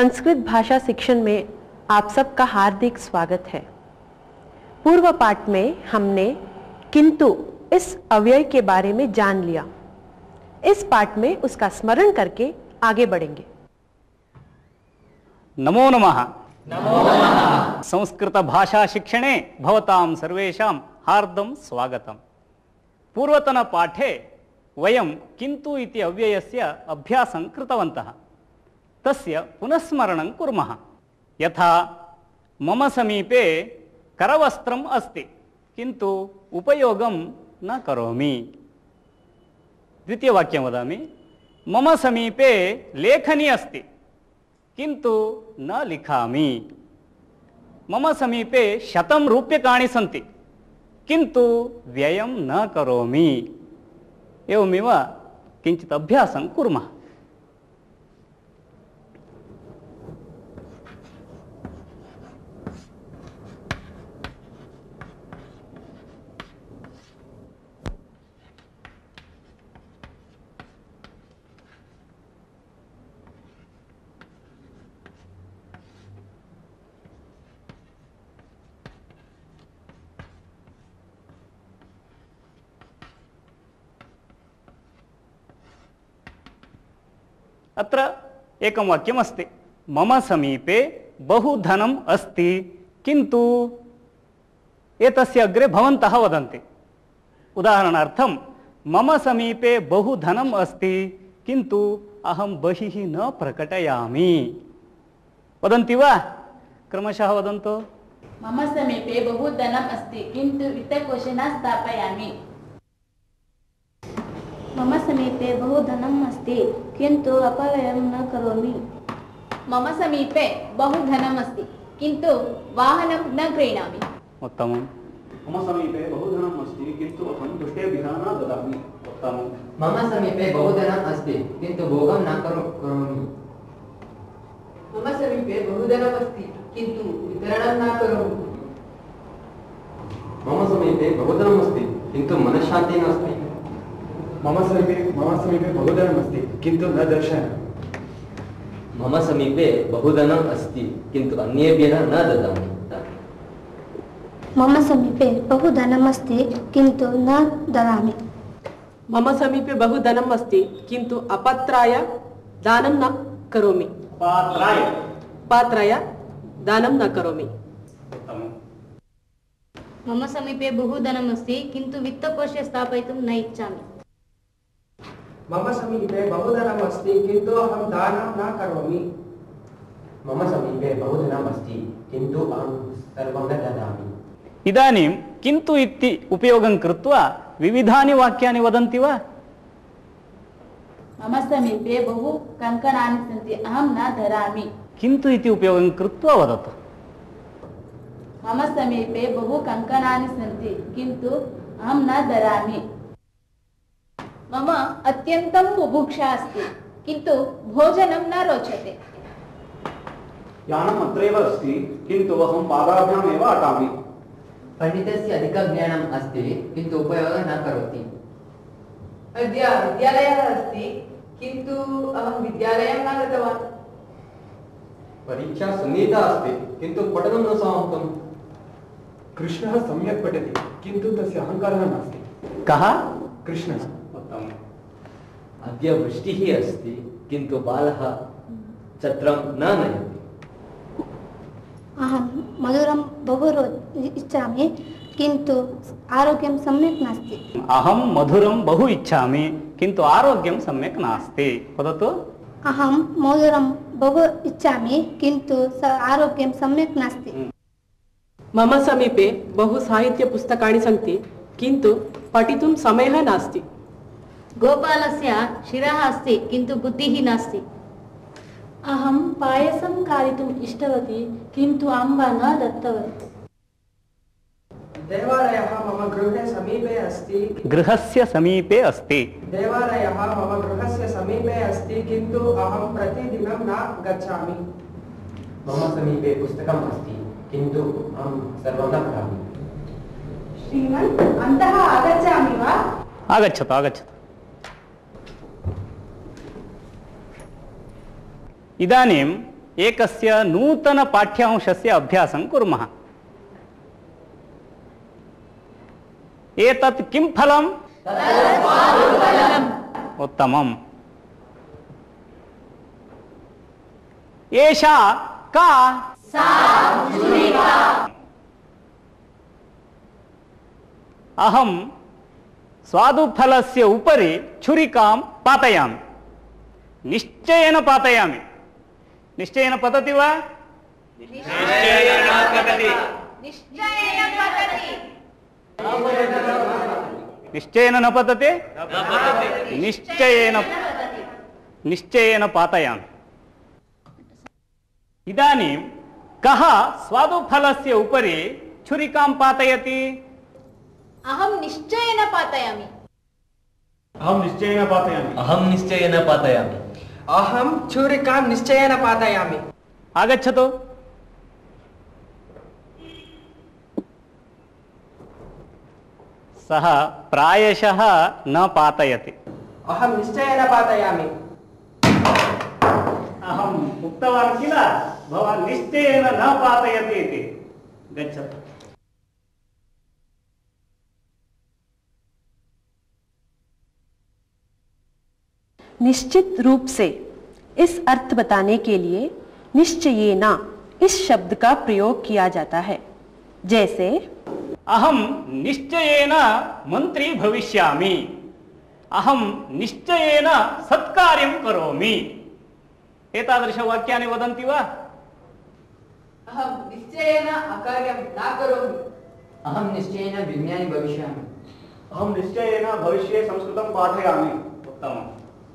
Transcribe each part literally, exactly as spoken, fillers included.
संस्कृत भाषा शिक्षण में आप सबका हार्दिक स्वागत है। पूर्व पाठ में हमने किंतु इस अव्यय के बारे में जान लिया। इस पाठ में उसका स्मरण करके आगे बढ़ेंगे। नमो नमः। नमो नमः। संस्कृत भाषा शिक्षणे भवतां सर्वेषां हार्दं स्वागतम्। पूर्वतन पाठे वयं किन्तु इति अव्ययस्य अभ्यासं कृतवन्तः। तस्य पुनस्मरणं कुर्मः। यथा मम समीपे करवस्त्रम् अस्ति किन्तु उपयोगं न करोमि। द्वितीयवाक्यं वदामि। मम समीपे लेखनी अस्ति किन्तु न लिखामि। मम समीपे शतं रूप्यकाणि सन्ति किन्तु व्ययं न करोमि। एवमेव किञ्चित् अभ्यासं कुर्मः। अत्र एकं वाक्यम् अस्ति। मम समीपे बहु धनम् अस्ति किन्तु एतस्य अग्रे भवन्तः वदन्ति। उदाहरणार्थं मम समीपे बहु धनम् अस्ति किन्तु अहं बहिः न प्रकटयामि। वदन्ति वा? क्रमशः वदन्तु। मम समीपे बहु धनम् अस्ति किन्तु वित्तकोशे न स्थापयामि। मम समीपे बहु धनम् अस्ति किन्तु अपव्ययं न करोमि। मम समीपे बहु धनम् अस्ति किन्तु वाहनं न क्रीणामि। उत्तमम्। मम समीपे बहु धनम् अस्ति किन्तु अहं दुष्टेभ्यः न ददामि। उत्तमम्। मम समीपे बहु धनम् अस्ति किन्तु भोगं न करोमि। मम समीपे बहु धनम् अस्ति किन्तु वितरणं न करोमि। मम समीपे बहु धनम् अस्ति किन्तु मनश्शान्तिः नास्ति। मम समीपे मम समीपे बहु धनम् अस्ति किन्तु न दर्शयामि। मम समीपे बहु धनम् अस्ति किन्तु अन्येभ्यः न ददामि। मम समीपे बहु धनम् अस्ति किन्तु न ददामि। मम समीपे बहु धनम् अस्ति किन्तु अपात्राय दानं न करोमि। पात्राय पात्राय दानं न करोमि। मम समीपे बहु धनम् अस्ति किन्तु वित्तकोशे स्थापयितुं न इच्छामि। मम समीपे बहु धनम् अस्ति किन्तु अहं दानं न करोमि। मम समीपे बहु धनम् अस्ति किन्तु अहं सर्वं न ददामि। इदानीं किन्तु इति उपयोगं कृत्वा विविधानि वाक्यानि वदन्ति वा? मम समीपे बहु कङ्कणानि सन्ति अहं न धरामि। किन्तु इति उपयोगं कृत्वा वदतु। मम समीपे बहु कङ्कणानि सन्ति किन्तु अहं न धरामि। मम अत्यन्तं बुभुक्षा अस्ति किन्तु भोजनं न रोचते। यानम् अत्रैव अस्ति किन्तु अहं पादाभ्याम् एव अटामि। पण्डितस्य अधिकं ज्ञानम् अस्ति किन्तु उपयोगं न करोति। अद्य विद्यालयः अस्ति किन्तु अहं विद्यालयं न गतवान्। परीक्षा सन्निहिता अस्ति किन्तु पठनं न समाप्तम्। कृष्णः सम्यक् पठति किन्तु तस्य अहङ्कारः नास्ति। कः? कृष्णः। अद्य वृष्टिः अस्ति किन्तु बालः छत्रं न नयति। अहं मधुरं बहु इच्छामि किन्तु आरोग्यं सम्यक् नास्ति। अहं मधुरं बहु इच्छामि किन्तु आरोग्यं सम्यक् नास्ति। वदतु। अहं मधुरं बहु इच्छामि किन्तु आरोग्यं सम्यक् नास्ति। मम समीपे बहु साहित्यपुस्तकानि सन्ति किन्तु पठितुं समयः नास्ति। गोपालस्य शिरः अस्ति किन्तु बुद्धिः नास्ति। अहं पायसं खादितुम् इष्टवती किन्तु अम्बा न दत्तवती। देवालयः मम गृहे समीपे अस्ति। गृहस्य समीपे अस्ति। देवालयः मम गृहस्य समीपे अस्ति किन्तु अहं प्रतिदिनं न गच्छामि। मम समीपे पुस्तकम् अस्ति किन्तु अहं सर्वं न पठामि। श्रीमन् अन्तः आगच्छामि वा? आगच्छतु आगच्छतु। इदानीम् एकस्य नूतन पाठ्यांशस्य अभ्यासं कुर्मः। एतत् किं फलम्? उत्तमम्। एषा का? अहं स्वादुफलस्य उपरि छुरिकां पातयामि। निश्चयेन पातयामि। निश्चयेन पतति वा? निश्चयेन पतति। निश्चयेन पतति। निश्चयेन न पतते? निश्चयेन निश्चयेन पातयामि। इदानीं कः स्वादुफलस्य उपरि छुरिकां पातयति? अहं निश्चयेन पातयामि। अहं निश्चयेन पातयामि। अहं निश्चयेन पातयामि। अहं छुरिकां निश्चयेन पातयामि। आगच्छतु। सः प्रायशः न पातयति। अहं निश्चयेन पातयामि। अहम् उक्तवान् किल भवान् निश्चयेन न पातयति इति। गच्छतु। निश्चित रूप से इस अर्थ बताने के लिए निश्चयेना इस शब्द का प्रयोग किया जाता है। जैसे अहम निश्चयेन मंत्री भविष्यामि। अहम निश्चयेन सत्कार्यं करोमि। एतादृशवाक्यानि वदन्ति वा? अहं निश्चयेन अकार्यं न करोमि। अहं निश्चयेन विज्ञानी भविष्यामि। अहं निश्चयेन भविष्ये संस्कृतं पाठयामि। उत्तमम्।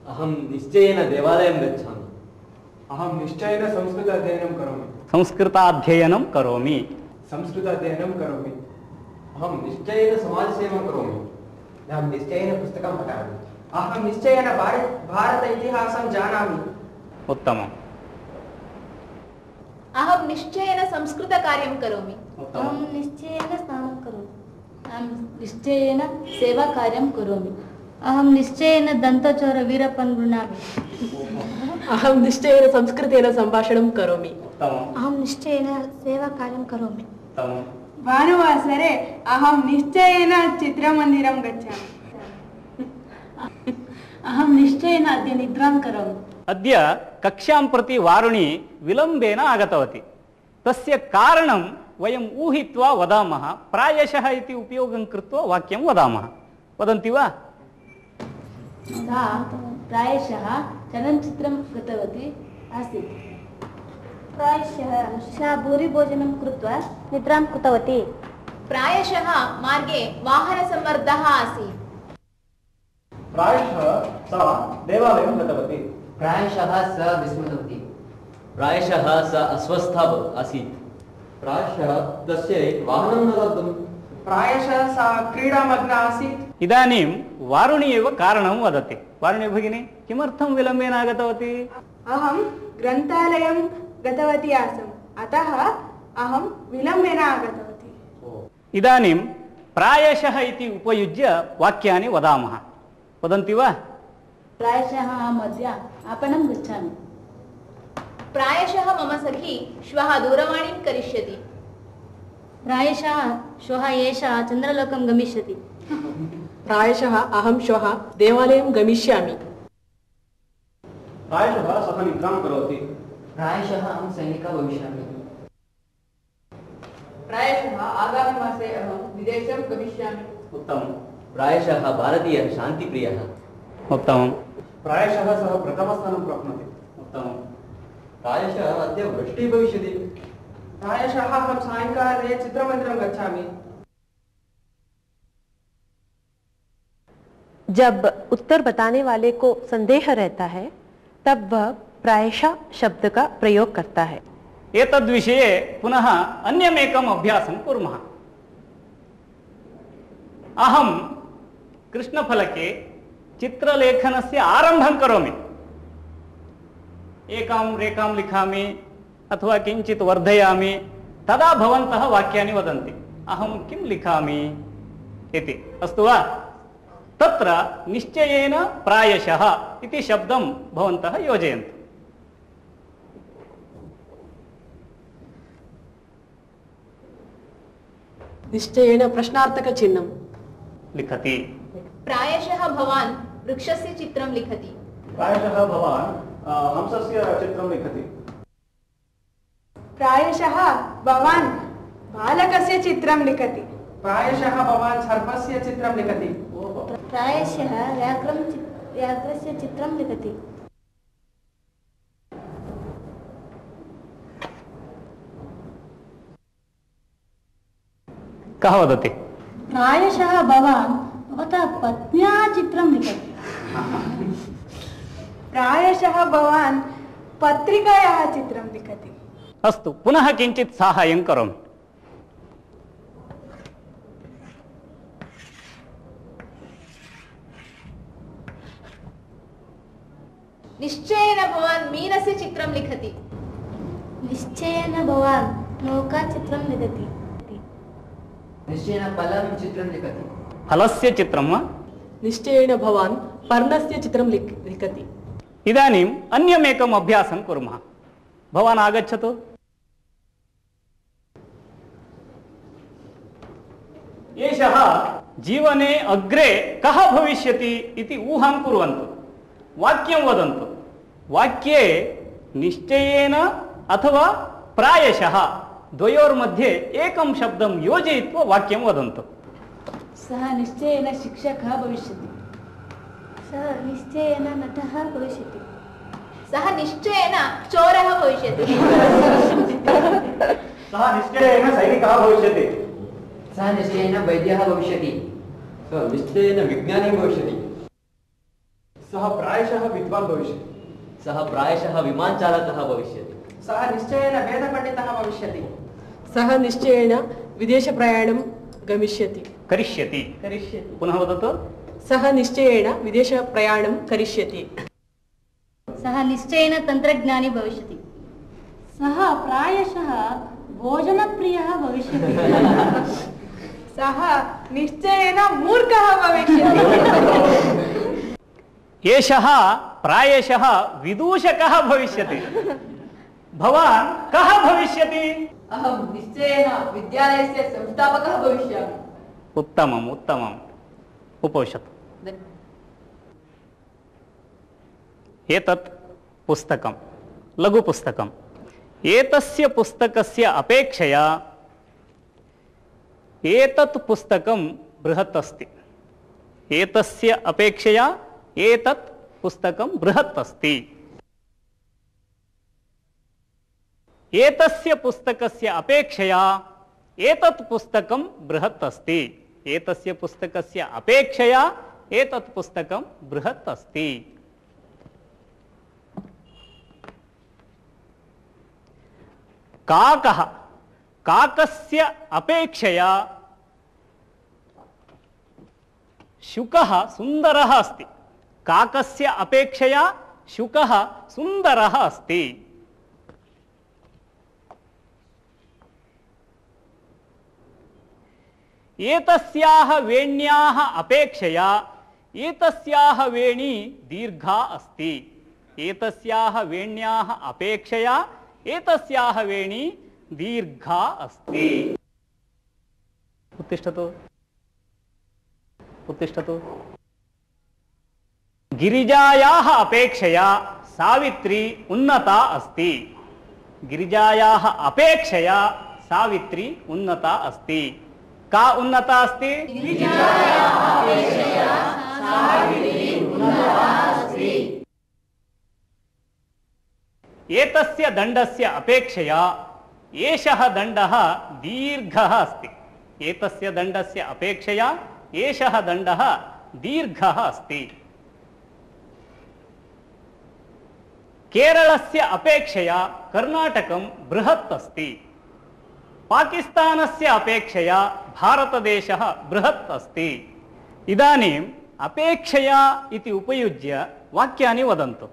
अहं निश्चयेन देवालयं गच्छामि। अहं निश्चयेन संस्कृत अध्ययनं करोमि। संस्कृताध्ययनं करोमि। संस्कृत अध्ययनं करोमि। अहं निश्चयेन समाजसेवां करोमि। अहं निश्चयेन पुस्तकं पठामि। अहं निश्चयेन भारत भारत इतिहासं जानामि। उत्तमम्। अहं निश्चयेन संस्कृतकार्यं करोमि। अहं निश्चयेन स्नानं करोमि। अहं निश्चयेन सेवाकार्यं करोमि। अहं निश्चयेन दन्तचोरवीरಪ್ಪन् गृह्णामि। अहं निश्चयेन संस्कृतेन सम्भाषणं करोमि। अहं निश्चयेन सेवाकार्यं करोमि। भानुवासरे अहं निश्चयेन चित्रमन्दिरं गच्छामि। अहं निश्चयेन अद्य निद्रां करोमि। अद्य कक्षां प्रति वारुणी विलम्बेन आगतवती। तस्य कारणं वयम् ऊहित्वा वदामः। प्रायशः इति उपयोगं कृत्वा वाक्यं वदामः। वदन्ति वा? सा प्रायशः चलनचित्रं गतवती आसीत्। प्रायशः सा भूरिभोजनं कृत्वा निद्रां कृतवती। प्रायशः मार्गे वाहनसम्मर्दः आसीत्। प्रायशः सा देवालयं गतवती। प्रायशः सा विस्मृतवती। प्रायशः सा अस्वस्था आसीत्। प्रायशः तस्यै वाहनं न लब्धम्। प्रायशः सा क्रीडामग्ना आसीत्। इदानीं वारुणी एव कारणं वदति। वारुणी भगिनी, किमर्थं विलम्बेन आगतवती? अहं ग्रन्थालयं गतवती आसम्, अतः अहं विलम्बेन आगतवती। इदानीं प्रायशः इति उपयुज्य वाक्यानि वदामः। वदन्ति वा? प्रायशः अहम् अद्य आपणं गच्छामि। प्रायशः मम सखी श्वः दूरवाणीं करिष्यति। प्रायशः श्वः एषा चन्द्रलोकं गमिष्यति। प्रायशः अहं श्वः देवालयं गमिष्यामि। प्रायशः सः निद्रां करोति। प्रायशः अहं सैनिकः भविष्यामि। प्रायशः आगामिमासे अहं विदेशं गमिष्यामि। उत्तमम्। प्रायशः भारतीयः शान्तिप्रियः। उत्तमम्। प्रायशः सः प्रथमस्थानं प्राप्नोति। उत्तमम्। प्रायशः अद्य वृष्टिः भविष्यति। प्रायशः अहं सायंकाले चित्रमन्दिरं गच्छामि। जब उत्तर बताने वाले को संदेह रहता है तब वह प्रायशः शब्द का प्रयोग करता है। एतद्विषये पुनः अन्यमेकम् अभ्यासं कुर्मः। अहं कृष्णफलके चित्रलेखनस्य आरम्भं करोमि। एकां रेखां लिखामि अथवा किञ्चित् वर्धयामि। तदा भवन्तः वाक्यानि वदन्ति। अहं किं लिखामि इति। अस्तु वा? तत्र निश्चयेन प्रायशः इति शब्दं भवन्तः योजयन्तु। निश्चयेन प्रश्नार्थकचिह्नं लिखति। प्रायशः भवान् वृक्षस्य चित्रं लिखति। प्रायशः भवान् हंसस्य चित्रं लिखति। प्रायशः भवान् बालकस्य चित्रं लिखति। प्रायशः भवान् सर्पस्य चित्रं लिखति। प्रायशः व्याघ्रं व्याघ्रस्य चित्रं लिखति। कः वदति? प्रायशः भवान् भवतः पत्न्याः चित्रं लिखति। प्रायशः भवान् पत्रिकायाः चित्रं लिखति। अस्तु, पुनः किञ्चित् साहाय्यं करोमि। निश्चयेन भवान् मीनस्य चित्रं लिखति। निश्चयेन भवान् नौकाचित्रं लिखति। निश्चयेन फलं चित्रं लिखति। फलस्य चित्रं वा? निश्चयेन भवान् पर्णस्य चित्रं लिखति। इदानीम् अन्यमेकम् अभ्यासं कुर्मः। भवान् आगच्छतु। एषः जीवने अग्रे कः भविष्यति इति ऊहां कुर्वन्तु। वाक्यं वदन्तु। वाक्ये निश्चयेन अथवा प्रायशः द्वयोर्मध्ये एकं शब्दं योजयित्वा वाक्यं वदन्तु। सः निश्चयेन शिक्षकः भविष्यति। सः निश्चयेन नटः भविष्यति। सः निश्चयेन चोरः भविष्यति। सः निश्चयेन सैनिकः भविष्यति। सः निश्चयेन वैद्यः भविष्यति। सः निश्चयेन विज्ञानी भविष्यति। सः प्रायशः विद्वान् भविष्यति। सः प्रायशः विमानचालकः भविष्यति। सः निश्चयेन वेदपण्डितः भविष्यति। सः निश्चयेन विदेशप्रयाणं गमिष्यति करिष्यति करिष्यति पुनः वदतु। सः निश्चयेन विदेशप्रयाणं करिष्यति। सः निश्चयेन तन्त्रज्ञानी भविष्यति। सः प्रायशः भोजनप्रियः भविष्यति। सः निश्चयेन मूर्खः भविष्यति। एषः प्रायशः विदूषकः भविष्यति। भवान् कः भविष्यति? अहं निश्चयेन विद्यालयस्य संस्थापकः भविष्यामि। उत्तमम् उत्तमम्। उपविशतु। एतत् पुस्तकं लघुपुस्तकम्। एतस्य पुस्तकस्य अपेक्षया एतत् पुस्तकं बृहत् अस्ति। एतस्य अपेक्षया एतत् पुस्तकं बृहत् अस्ति। एतस्य पुस्तकस्य अपेक्षया एतत् पुस्तकं बृहत् अस्ति। एतस्य पुस्तकस्य अपेक्षया एतत् पुस्तकं बृहत् अस्ति। काकः काकस्य अपेक्षया शुकः सुन्दरः अस्ति। काकस्य अपेक्षया शुकः सुन्दरः अस्ति। एतस्याः वेण्याः अपेक्षया एतस्याः वेणी दीर्घा अस्ति। एतस्याः वेण्याः अपेक्षया एतस्याः वेणी दीर्घा अस्ति। उत्तिष्ठतु उत्तिष्ठतु। गिरिजायाः अपेक्षया सावित्री उन्नता अस्ति। गिरिजायाः अपेक्षया सावित्री उन्नता अस्ति। का उन्नता अस्ति? गिरिजायाः अपेक्षया सावित्री उन्नता अस्ति। एतस्य दण्डस्य अपेक्षया एषः दण्डः दीर्घः अस्ति। एतस्य दण्डस्य अपेक्षया एषः दण्डः दीर्घः अस्ति। केरलस्य अपेक्षया कर्णाटकं बृहत् अस्ति। पाकिस्तानस्य अपेक्षया भारतदेशः बृहत् अस्ति। इदानीम् अपेक्षया इति उपयुज्य वाक्यानि वदन्तु।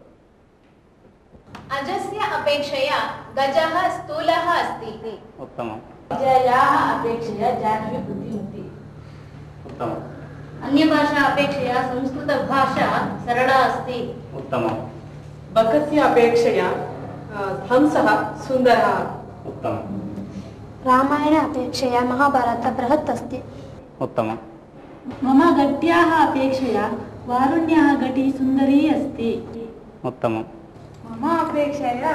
अजस्य अपेक्षया गजः स्थूलः अस्ति। उत्तमम्। विजयायाः अपेक्षया जाह्नवी बुद्धिमती। उत्तमम्। अन्यभाषा अपेक्षया संस्कृतभाषा सरला अस्ति। उत्तमम्। बकस्य अपेक्षया हंसः सुन्दरः। उत्तमम्। रामायण अपेक्षया महाभारत बृहत् अस्ति। उत्तमम्। मम घट्याः अपेक्षया वारुण्याः घटी सुन्दरी अस्ति। उत्तमम्। मम अपेक्षया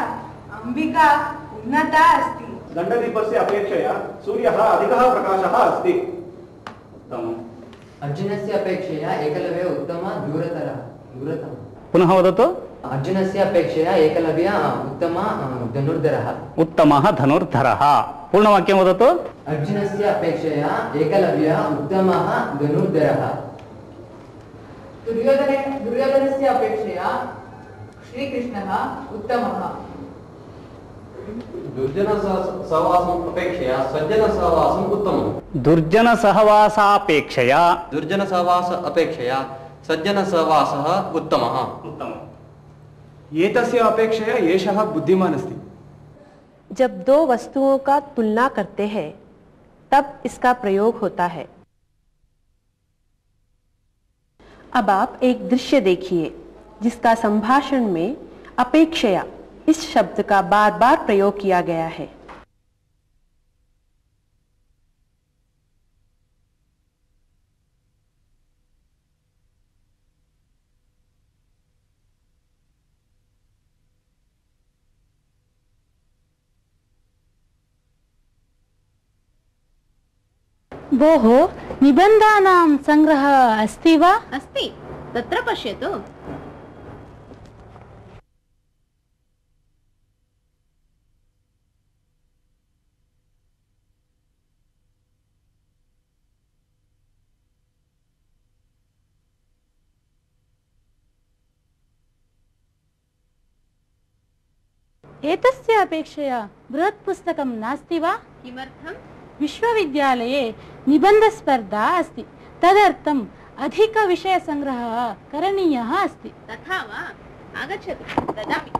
अंबिका उन्नता अस्ति। दण्डदीपस्य अपेक्षया सूर्यः अधिकः प्रकाशः अस्ति। उत्तमम्। अर्जुनस्य अपेक्षया एकलव्य उत्तम दूरतरः दूरतमः। पुनः वदतु। अर्जुनस्य अपेक्षया एकलव्य उत्तम धनुर्धरः। उत्तमः धनुर्धरः। पूर्णवाक्यं वदतु। अर्जुनस्य अपेक्षया एकलव्य उत्तमः धनुर्धरः। दुर्योधन दुर्योधनस्य अपेक्षया श्रीकृष्णः उत्तमः। दुर्जन सहवासम् अपेक्षया सज्जन सहवासम् उत्तमम्। दुर्जन सहवासापेक्षया दुर्जन सहवास अपेक्षया सज्जन सहवासः उत्तमः। उत्तमम्। एतस्य अपेक्षया एषः बुद्धिमान् अस्ति। जब दो वस्तुओं का तुलना करते हैं तब इसका प्रयोग होता है। अब आप एक दृश्य देखिए जिसका संभाषण में अपेक्षया इस शब्द का बार बार प्रयोग किया गया है। भोः निबन्धानां संग्रहः अस्ति वा? अस्ति, तत्र पश्यतु। एतस्य अपेक्षया बृहत् पुस्तकं नास्ति वा? किमर्थम्? विश्वविद्यालये निबन्धस्पर्धा अस्ति, तदर्थम् अधिकविषयसङ्ग्रहः करणीयः अस्ति। तथा वा? आगच्छतु, ददामि।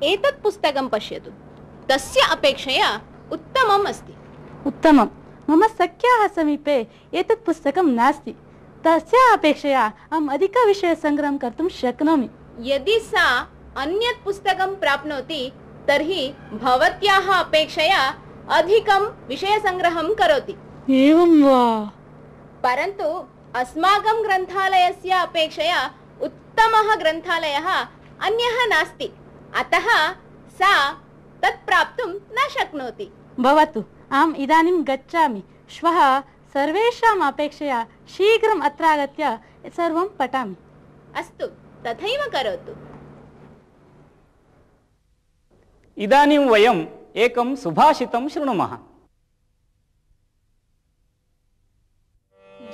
एतत् पुस्तकं पश्यतु, तस्य अपेक्षया उत्तमम् अस्ति। उत्तमम्। मम सख्याः समीपे एतत् पुस्तकं नास्ति, तस्य अपेक्षया अहम् अधिकविषयसङ्ग्रहं कर्तुं शक्नोमि। यदि सा अन्यत् पुस्तकं प्राप्नोति तर्हि भवत्याः अपेक्षया अधिकं विषयसङ्ग्रहं करोति। एवं वा? परन्तु अस्माकं ग्रन्थालयस्य अपेक्षया उत्तमः ग्रन्थालयः अन्यः नास्ति, अतः सा तत् प्राप्तुं न शक्नोति। भवतु, अहम् इदानीं गच्छामि। श्वः सर्वेषाम् अपेक्षया शीघ्रम् अत्र आगत्य सर्वं पठामि। अस्तु, तथैव करोतु। इदानीं वयम् एकं सुभाषितं शृणुमः।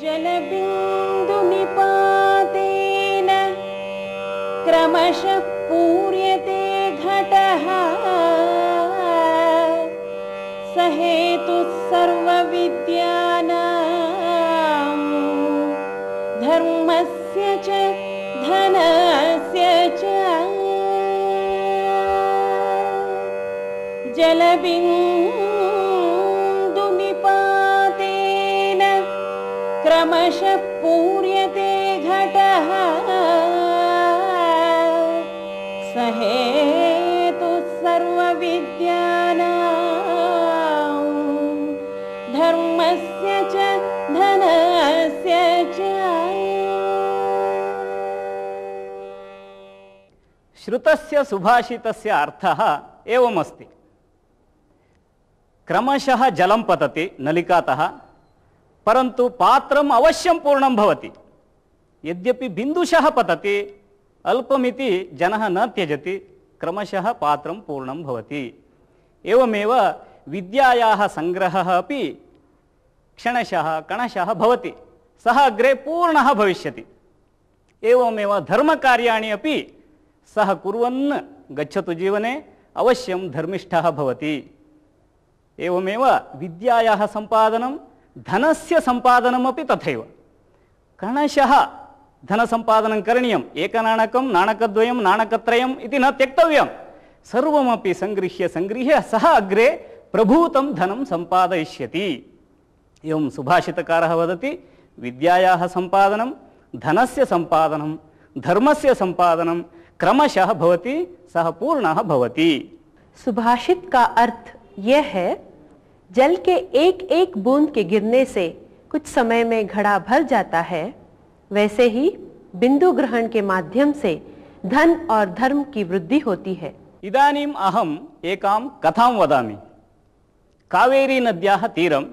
जलबिन्दुनिपातेन क्रमशः पूर्यते घटः, सहेतुः सर्वविद्यानां धर्मस्य च धनस्य च। जलबिन्दुनिपातेन क्रमशः पूर्यते घटः, सहेतुः सर्वविद्यानां धर्मस्य च धनस्य च। श्रुतस्य सुभाषितस्य अर्थः एवमस्ति। क्रमशः जलं पतति नलिकातः, परन्तु पात्रम् अवश्यं पूर्णं भवति। यद्यपि बिन्दुशः पतति, अल्पमिति जनः न त्यजति, क्रमशः पात्रं पूर्णं भवति। एवमेव विद्यायाः संग्रहः अपि क्षणशः कणशः भवति, सः अग्रे पूर्णः भविष्यति। एवमेव धर्मकार्याणि अपि सः कुर्वन् गच्छतु जीवने अवश्यं धर्मिष्ठः भवति। एवमेव विद्यायाः सम्पादनं धनस्य सम्पादनमपि तथैव। कणशः धनसम्पादनं करणीयम्, एकनाणकं नाणकद्वयं नाणकत्रयम् इति न त्यक्तव्यं, सर्वमपि सङ्गृह्य सङ्गृह्य सः अग्रे प्रभूतं धनं सम्पादयिष्यति। एवं सुभाषितकारः वदति, विद्यायाः सम्पादनं धनस्य सम्पादनं धर्मस्य सम्पादनं क्रमशः भवति, सः पूर्णः भवति। सुभाषित का अर्थ यह है, जल के एक एक बूंद के गिरने से कुछ समय में घड़ा भर जाता है, वैसे ही बिंदु ग्रहण के माध्यम से धन और धर्म की वृद्धि होती है। इदानीम् अहम् एकां कथां वदामि। कावेरी नद्याः तीरं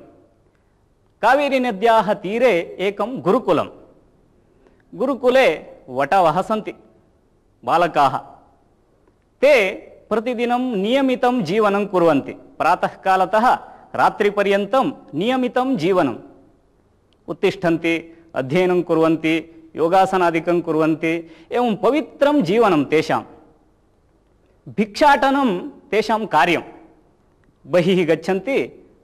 कावेरी नद्याः तीरे एकं गुरुकुलं। गुरुकुले वटवः सन्ति, बालकाः। ते प्रतिदिनं नियमितं जीवनं कुर्वन्ति। प्रातःकालतः रात्रिपर्यन्तं नियमितं जीवनम्। उत्तिष्ठन्ति, अध्ययनं कुर्वन्ति, योगासनादिकं कुर्वन्ति, एवं पवित्रं जीवनं तेषां। भिक्षाटनं तेषां कार्यं। बहिः गच्छन्ति,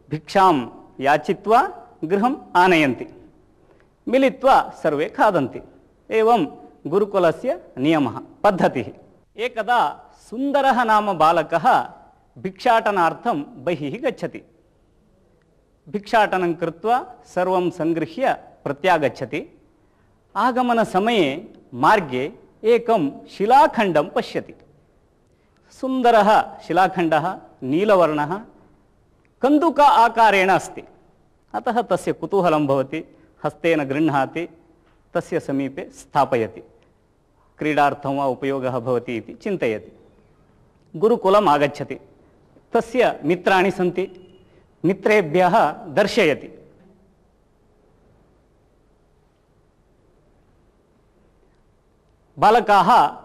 भिक्षां याचित्वा गृहम् आनयन्ति, मिलित्वा सर्वे खादन्ति। एवं गुरुकुलस्य नियमः, पद्धतिः। एकदा सुन्दरः नाम बालकः भिक्षाटनार्थं बहिः गच्छति। भिक्षाटनं कृत्वा सर्वं सङ्गृह्य प्रत्यागच्छति। आगमनसमये मार्गे एकं शिलाखण्डं पश्यति। सुन्दरः शिलाखण्डः, नीलवर्णः, कन्दुक आकारेण अस्ति। अतः तस्य कुतूहलं भवति, हस्तेन गृह्णाति, तस्य समीपे स्थापयति। क्रीडार्थं वा उपयोगः भवति इति चिन्तयति। गुरुकुलम् आगच्छति। तस्य मित्राणि सन्ति, मित्रेभ्यः दर्शयति। बालकाः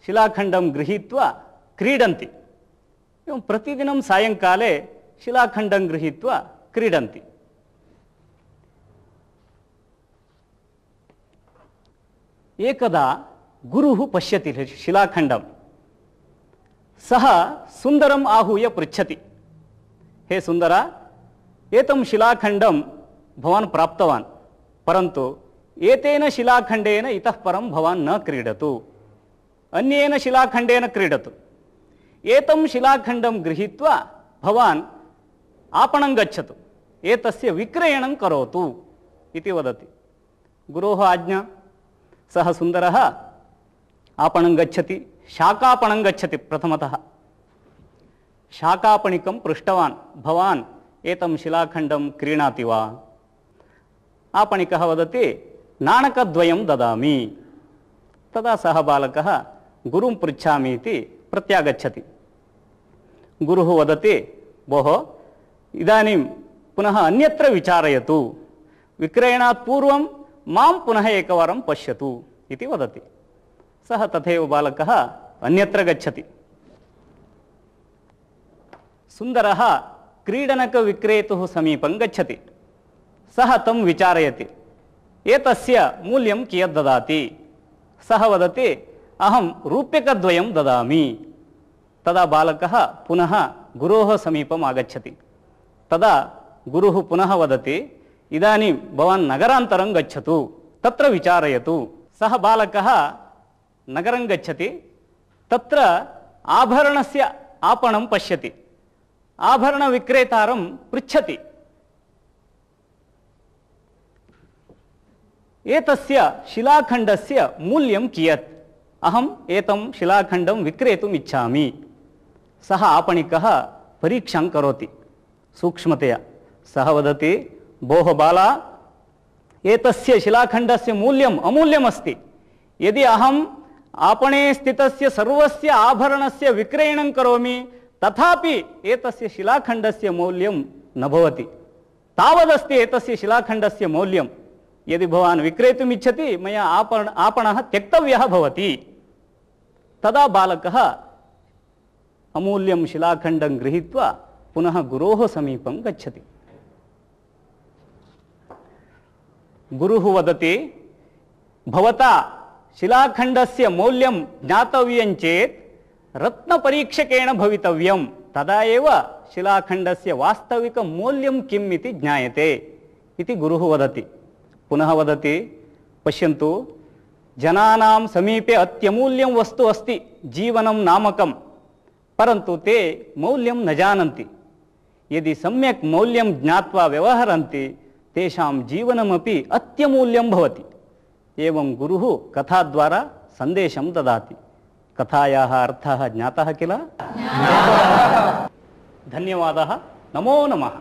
शिलाखण्डं गृहीत्वा क्रीडन्ति। एवं प्रतिदिनं सायङ्काले शिलाखण्डं गृहीत्वा क्रीडन्ति। एकदा गुरुः पश्यति शिलाखण्डं। सः सुन्दरम् आहूय पृच्छति, हे सुन्दर, एतं शिलाखण्डं भवान् प्राप्तवान्, परन्तु एतेन शिलाखण्डेन इतः परं भवान् न क्रीडतु, अन्येन शिलाखण्डेन क्रीडतु। एतं शिलाखण्डं गृहीत्वा भवान् आपणं गच्छतु, एतस्य विक्रयणं करोतु इति वदति। गुरोः आज्ञा। सः सुन्दरः आपणं गच्छति, शाकापणं गच्छति। प्रथमतः शाकापणिकं पृष्टवान्, भवान् एतं शिलाखण्डं क्रीणाति वा? आपणिकः वदति, नाणकद्वयं ददामि। तदा सः बालकः गुरुं पृच्छामि इति प्रत्यागच्छति। गुरुः वदति, भोः, इदानीं पुनः अन्यत्र विचारयतु, विक्रयणात् पूर्वं मां पुनः एकवारं पश्यतु इति वदति। सः तथैव बालकः अन्यत्र गच्छति। सुन्दरः क्रीडनकविक्रेतुः समीपं गच्छति। सः तं विचारयति, एतस्य मूल्यं कियत् ददाति? सः वदति, अहं रूप्यकद्वयं ददामि। तदा बालकः पुनः गुरोः समीपम् आगच्छति। तदा गुरुः पुनः वदति, इदानीं भवान् नगरान्तरं गच्छतु, तत्र विचारयतु। सः बालकः नगरं गच्छति। तत्र आभरणस्य आपणं पश्यति। आभरणविक्रेतारं पृच्छति, एतस्य शिलाखण्डस्य मूल्यं कियत्? अहम् एतं शिलाखण्डं विक्रेतुम् इच्छामि। सः आपणिकः परीक्षां करोति सूक्ष्मतया। सः वदति, भोः बाला, एतस्य शिलाखण्डस्य मूल्यम् अमूल्यमस्ति। यदि अहम् आपणे स्थितस्य सर्वस्य आभरणस्य विक्रयणं करोमि, तथापि एतस्य शिलाखण्डस्य मौल्यं न भवति। तावदस्ति एतस्य शिलाखण्डस्य मौल्यं। यदि भवान् विक्रेतुम् इच्छति, मया आपण आपणः त्यक्तव्यः भवति। तदा बालकः अमूल्यं शिलाखण्डं गृहीत्वा पुनः गुरोः समीपं गच्छति। गुरुः वदति, भवता शिलाखण्डस्य मौल्यं ज्ञातव्यं चेत् रत्नपरीक्षकेण भवितव्यं, तदा एव शिलाखण्डस्य वास्तविकं मौल्यं किम् इति ज्ञायते इति गुरुः वदति। पुनः वदति, पश्यन्तु, जनानां समीपे अत्यमूल्यं वस्तु अस्ति जीवनं नामकं, परन्तु ते मौल्यं न जानन्ति। यदि सम्यक् मौल्यं ज्ञात्वा व्यवहरन्ति, तेषां जीवनमपि अत्यमूल्यं भवति। एवं गुरुः कथाद्वारा सन्देशं ददाति। कथायाः अर्थः ज्ञातः किल? धन्यवादः। नमो नमः।